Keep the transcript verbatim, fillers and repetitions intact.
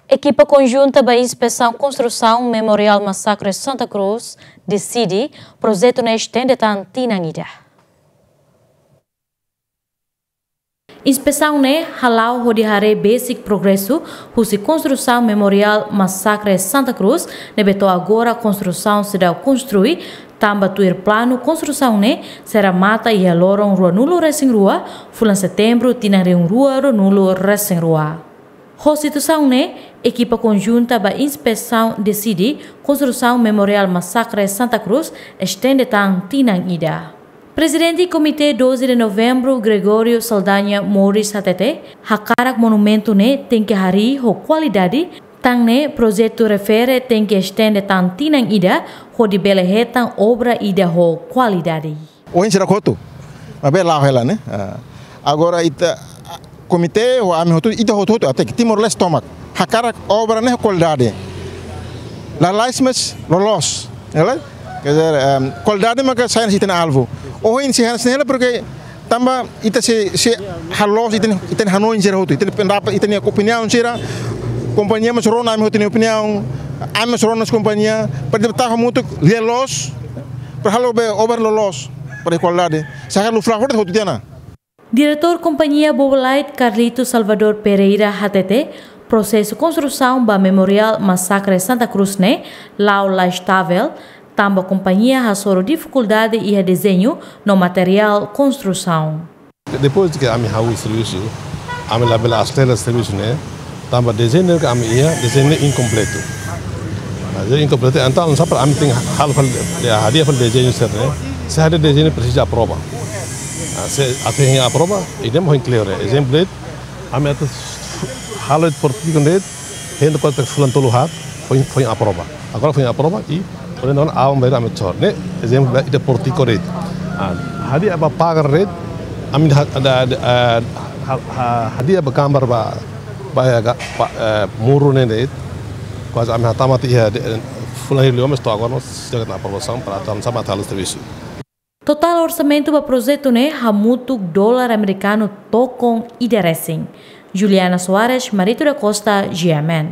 Ekipa konjunta ba inspesaun konstrusaun Memoriál Masakre Santa Cruz deside projetu ne'e estende tan tinan ida. Inspesaun ne'e hala'o hodi haree besik progresu husi konstrusaun Memoriál Masakre Santa Cruz, ne'ebé to'o agora konstrusaun seidauk konstrui, tanba tuir planu konstrusaun ne'e sei remata iha loron ruanulu resin rua, fulan Setembru, tinan rihun rua ruanulu resin rua. Ho situasaun ne'e, ekipa konjunta ba inspesaun deside konstrusaun Memoriál Masakre Santa Cruz estende tan tinan ida. Prezidente Komité doze de Novembru, Gregório Saldanha Moris hatete, hakarak monumentu ne'e tenke harii ho kualidade, tan ne'e projetu refere tenke estende tan tinan ida, hodi bele hetan obra ida ho kualidade. Ohin sira hotu. Maibé la'o hela ne'e. Ah. Agora ita, ah, komité ho ami hotu, ita hotu-hotu, até ke Timor-Leste tomak. Hakarak obra ne'e kualidade. Lalais mas loloos. Ne'e lae? Quer dizer, ehm, kualidade maka sai husi ita-nia alvu. Ohin sei hanesan ne'e hela, porque tanba ita sei, sei halo ita-nia, ita-nia hanoin sira hotu, ita-nia pendapat, ita-nia opiniaun sira, kompañia mós rona ami hotu nia opiniaun, ami mós rona kompañia, para ita tau hamutuk lia loos, para halo be obra loloos, para kualidade. Saka lu fla forte hotu tiha ona. Diretór Kompañia Bobolite, Carlito Salvador Pereira, hatete, prosesu konstrusaun ba Memoriál Masakre Santa Cruz ne'e la'o la estavel, tanba kompañia hasoru difikuldade iha dezeñu no materiál konstrusaun. Depois de que ami hahú servisu, ami labele aselera servisu ne'e, tanba dezeñu ke ami iha, dezeñu ne'e inkompletu. Ah, dezeñu inkompletu, entaun, sá para ami tenke halo fali, ya, hadi'a fali dezeñu sira ne'e, se hadi'a dezeñu presiza aprova. Ah, se atu hein aprova, ida-ne'e mak ohin kleur ne'e. Ezemplu de'it, ami atu halo portiko de'it, hein de'it kuaze fulan tolu haat, foin, foin aprova. Agora foin aprova i, porém, agora aban-bainrua ami atu sa'e. Ne'e, ezemplu, ita portiko de'it. Ah, hadi'a ba pagar de'it, ami ha-, da, da, eh, ha-, ha-, hadi'a ba gambar ba, ba, eh, ga-, ba, eh, muru ne'e de'it. Kuaze ami hatama tiha de'it, eh, fulan hira liu, mas to'o agora mós seidauk hetan aprovasaun para atu sa'e ba halo servisu. Totál orsamentu ba projetu ne'e hamutuk dolar amerikanu tokon ida resin. Juliana Soares, Marito da Costa, G M N.